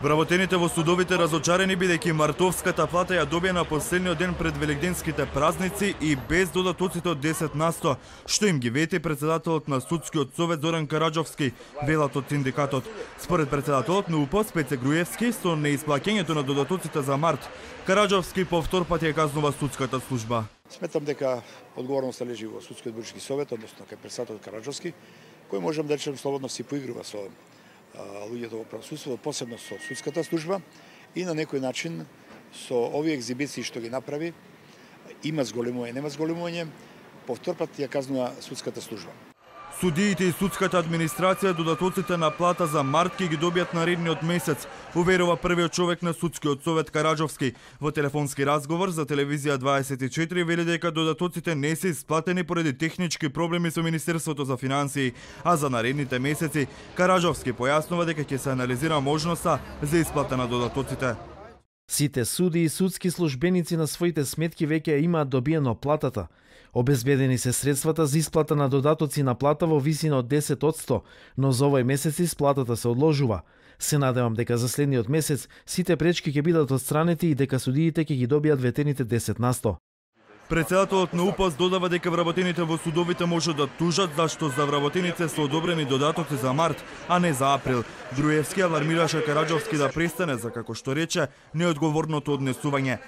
Вработените во судовите разочарени бидејќи мартовската плата ја добија на последниот ден пред велигденските празници и без додатоците од 10%, што им ги вети председателот на Судскиот совет Зоран Караџовски, велат од синдикатот. Според председателот на УПС Пеце Груевски, со неисплаќањето на додатоците за март, Караџовски повтор пат ја казнува судската служба. Сметам дека одговорноста лежи во Судскиот буџетски совет, односно кај председателот Караџовски, кој можам да речем слободно си поигрува со луѓето во правосудството, посебно со судската служба и на некој начин со овие екзибиции што ги направи, има зголемување, нема зголемување, повтор пат ја казнува судската служба. Судиите и судската администрација додатоците на плата за март ќе ги добијат наредниот месец, уверува првиот човек на Судскиот совет Караџовски. Во телефонски разговор за телевизија 24 вели дека додатоците не се исплатени поради технички проблеми со Министерството за финансии, а за наредните месеци Караџовски појаснува дека ќе се анализира можноста за исплата на додатоците. Сите суди и судски службеници на своите сметки веќе имаат добиено платата. Обезбедени се средствата за исплата на додатоци на плата во висина од 10%, но за овој месец исплатата се одложува. Се надевам дека за следниот месец сите пречки ќе бидат отстранети и дека судиите ќе ги добијат ветените 10%. Председателот на УПС додава дека вработените во судовите можат да тужат зашто за вработените се одобрени додатоци за март, а не за април. Груевски алармираше Караџовски да престане за, како што рече, неодговорното однесување.